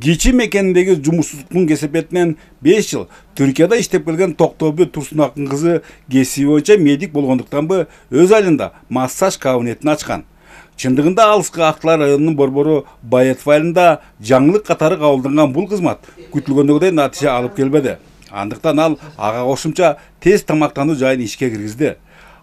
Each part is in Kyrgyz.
Кичи мекендеги жумушсуздуктун кесепетинен 5 жыл Түркияда иштеп келген Токтобу Турсунактын кызы кесиби боюнча медик болгондуктанбы өз айылында массаж кабинетин ачкан. Чындыгында алыскы Актылар районунун борбору Байетов айылында жаңылык катары кабылданган бул кызмат күтүлгөндөй натыйжа алып келбеди. Андыктан ал ага кошумча тез тамактануу жайын ишке киргизди.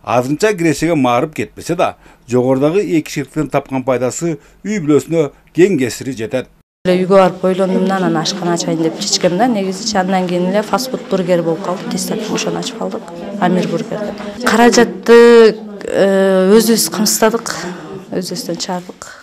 Азгынча кирешеге маарып кетпесе да, жогорудагы эки ширктен тапкан пайдасы үй бүлөсүнө кең кесири жетет. Үйгө барып ойлондумдан анан ашкана ачайын деп чечкем да, негизи андан кийин эле фастфуд бургер болуп калды. Тез ошону ачып калдык. Амир бургер деп. Каражатты өзүбүз камсыздадык, өзүбүздөн чыгардык.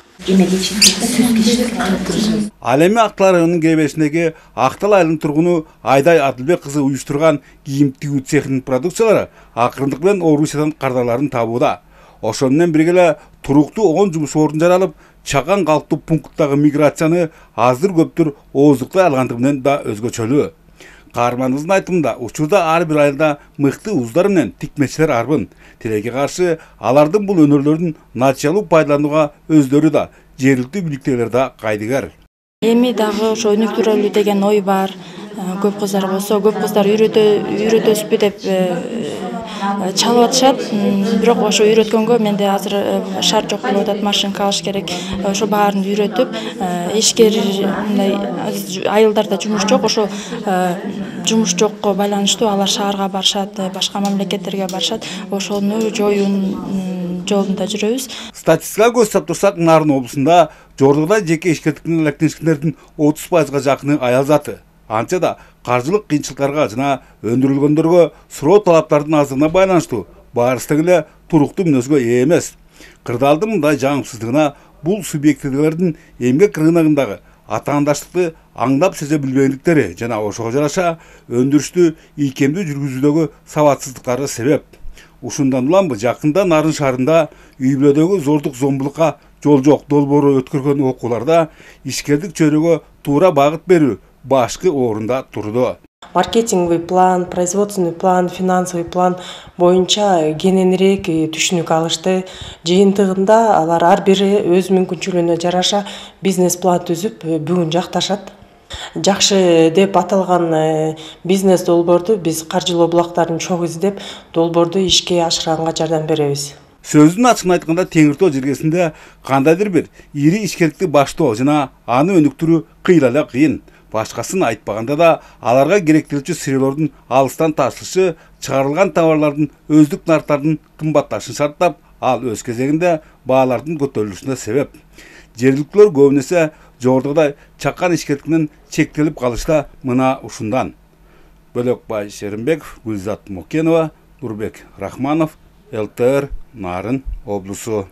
Ал эми Актылар районунун киреберишиндеги Актал айылынын тургуну Айдай Адылбек кызы уюштурган кийим тигүү цехинин продукциялары акырындык менен Орусиядан кардарларын табууда. Ошону менен бирге эле туруктуу 10 жумуш ордун жаралып, чакан калктуу пункттагы миграцияны аздыр көптүр ооздуктай алгандыгы менен да өзгөчөлүү. Каарманыбыздын айтымында, учурда ар бир айылда мыкты уздар менен тикмечилер арбын. Тилекке каршы алардын бул өнөрлөрүн натыйжалуу пайдаланууга өздөрү да, жергиликтүү бийликтегилер да кайдыгер. Эми дагы ошо өнүктүрөлү деген ой бар. Көп кыздар болсо, көп кыздар үйрөтөсүзбү деп чалып атышат. Бирок ошо үйрөткөнгө менде азыр шар жок болуп атат, машинка алыш керек. Ошо баарын үйрөтүп, ишкер мындай айылдарда жумуш жок, ошо жумуш жокко байланыштуу алар шаарга барышат, башка мамлекеттерге барышат. Ошону жоюунун жолунда жүрөбүз. Статистикага көз сап турсак, Нарын облусунда жогоруда жеке ишкерликтин электенишкендердин 30%га жакыны аял заты. Анча да каржылык кыйынчылыктарга жана өндүрүлгөндөргө суроо талаптардын аздыгына байланыштуу баарысы эле туруктуу мүнөзгө ээ эмес. Кырдаалдын мындай жаңсыздыгына бул субъектилердин эмгек рыногундагы атаандаштыкты аңдап сезе билбегендиктери жана ошого жараша өндүрүштү ийкемдүү жүргүзүүдөгү сабатсыздыктары себеп. Ушундан уламбы жакында Нарын шаарында үй бүлөдөгү зордук зомбулукка жол жок долбоору өткөргөн окууларда ишкердик чөйрөгө туура багыт берүү башкы орунда турду. Маркетинговый план, производственный план, финансовый план боюнча кененирээк түшүнүк алышты. Жыйынтыгында алар ар бири өз мүмкүнчүлүгүнө жараша бизнес план түзүп, бүгүн жакташат. Жакшы деп аталган бизнес долбоорду биз каржылоо булактарын чоң издеп, долбоорду ишке ашырганга жардам беребиз. Сөздүн ачыгын айтканда, Теңир Тоо жергесинде кандайдыр бир ири ишкерликти баштоо жана аны өнүктүрүү кыйла эле кыйын. Башкасын айтпаганда да аларга керектелүүчү сыйроолордун алыстан ташылышы, чыгарылган товарлардын өздүк нарктардын кымбатташын шарттап, ал өз кезегинде баалардын көтөрүлүшүнө себеп. Жергиликтүүлөр көбүн эсе жогорудагыдай чакан ишкерликтинен чектелип калышта мына ушундан. Бөлөкбай Шеримбеков, Гүлзат Мокенова, Нурбек Рахманов, ЛТР, Нарын облусу.